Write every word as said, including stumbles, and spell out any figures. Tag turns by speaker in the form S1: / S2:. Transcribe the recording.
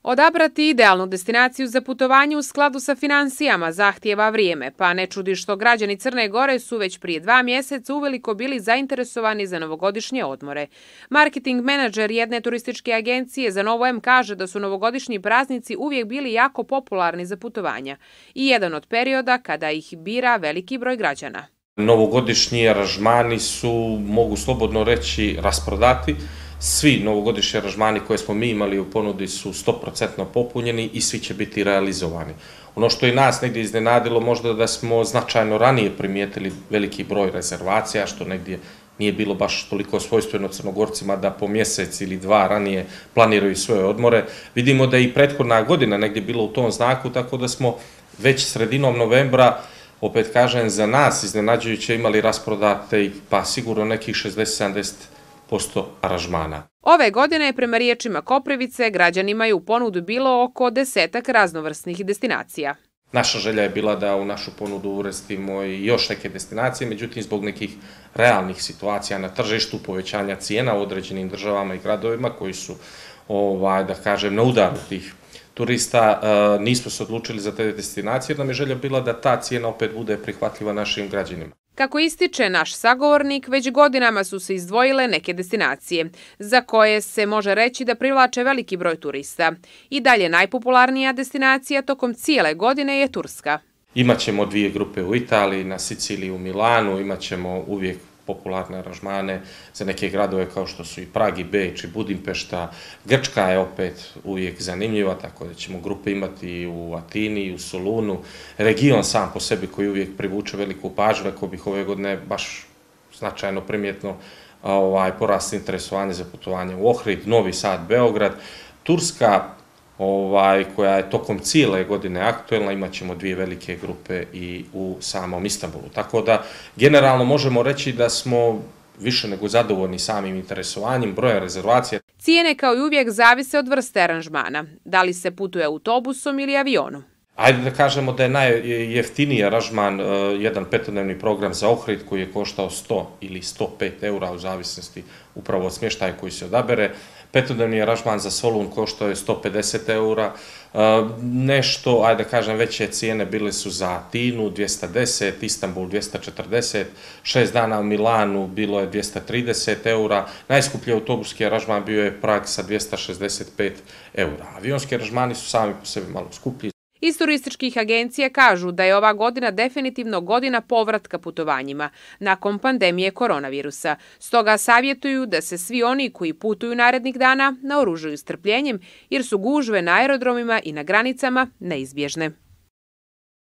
S1: Odabrati idealnu destinaciju za putovanje u skladu sa finansijama zahtijeva vrijeme, pa ne čudi što građani Crne Gore su već prije dva mjeseca uveliko bili zainteresovani za novogodišnje odmore. Marketing menadžer jedne turističke agencije za Novo M kaže da su novogodišnji praznici uvijek bili jako popularni za putovanja i jedan od perioda kada ih bira veliki broj građana.
S2: Novogodišnji aranžmani su, mogu slobodno reći, rasprodati. Svi novogodišnji aranžmani koje smo mi imali u ponudi su sto posto popunjeni i svi će biti realizovani. Ono što je nas negdje iznenadilo možda da smo značajno ranije primijetili veliki broj rezervacija, što negdje nije bilo baš toliko svojstveno Crnogorcima da po mjesec ili dva ranije planiraju svoje odmore. Vidimo da je i prethodna godina negdje bilo u tom znaku, tako da smo već sredinom novembra, opet kažem, za nas iznenađujuće imali rasprodate pa sigurno nekih šezdeset do sedamdeset posto aranžmana.
S1: Ove godine, prema riječima Koprivice, građanima je u ponudu bilo oko desetak raznovrsnih destinacija.
S2: Naša želja je bila da u našu ponudu uvrstimo i još neke destinacije, međutim zbog nekih realnih situacija na tržištu, povećanja cijena u određenim državama i gradovima koji su, ovaj, da kažem, na udaru tih turista, nismo se odlučili za te destinacije jer nam je želja bila da ta cijena opet bude prihvatljiva našim građanima.
S1: Kako ističe naš sagovornik, već godinama su se izdvojile neke destinacije, za koje se može reći da privlače veliki broj turista. I dalje najpopularnija destinacija tokom cijele godine je Turska.
S2: Imaćemo dvije grupe u Italiji, na Siciliji, u Milanu, imaćemo uvijek popularne aranžmane za neke gradove kao što su i Prag i Beč i Budimpešta. Grčka je opet uvijek zanimljiva, tako da ćemo grupe imati i u Atini i u Solunu. Region sam po sebi koji uvijek privuče veliku pažnju, rekao bih ove godine baš značajno primjetno ovaj, porast interesovanja za putovanje u Ohrid, Novi Sad, Beograd. Turska, ovaj, koja je tokom cijele godine aktuelna, imat ćemo dvije velike grupe i u samom Istanbulu. Tako da, generalno možemo reći da smo više nego zadovoljni samim interesovanjem, broja rezervacija.
S1: Cijene kao i uvijek zavise od vrste aranžmana. Da li se putuje autobusom ili avionom?
S2: Ajde da kažemo da je najjeftiniji aranžman jedan petodnevni program za Ohrid koji je koštao sto ili sto pet eura u zavisnosti upravo od smještaja koji se odabere. Petodnevni aranžman za Solun koštao je sto pedeset eura. Nešto, ajde da kažem, veće cijene bile su za Atinu dvjesto deset, Istanbul dvjesto četrdeset, šest dana u Milanu bilo je dvjesto trideset eura. Najskuplji autobuski aranžman bio je Prag sa dvjesto šezdeset pet eura. Avionski aranžmani su sami po sebi malo skuplji.
S1: Iz turističkih agencija kažu da je ova godina definitivno godina povratka putovanjima nakon pandemije koronavirusa. Stoga savjetuju da se svi oni koji putuju narednih dana naoružaju strpljenjem jer su gužve na aerodromima i na granicama neizbježne.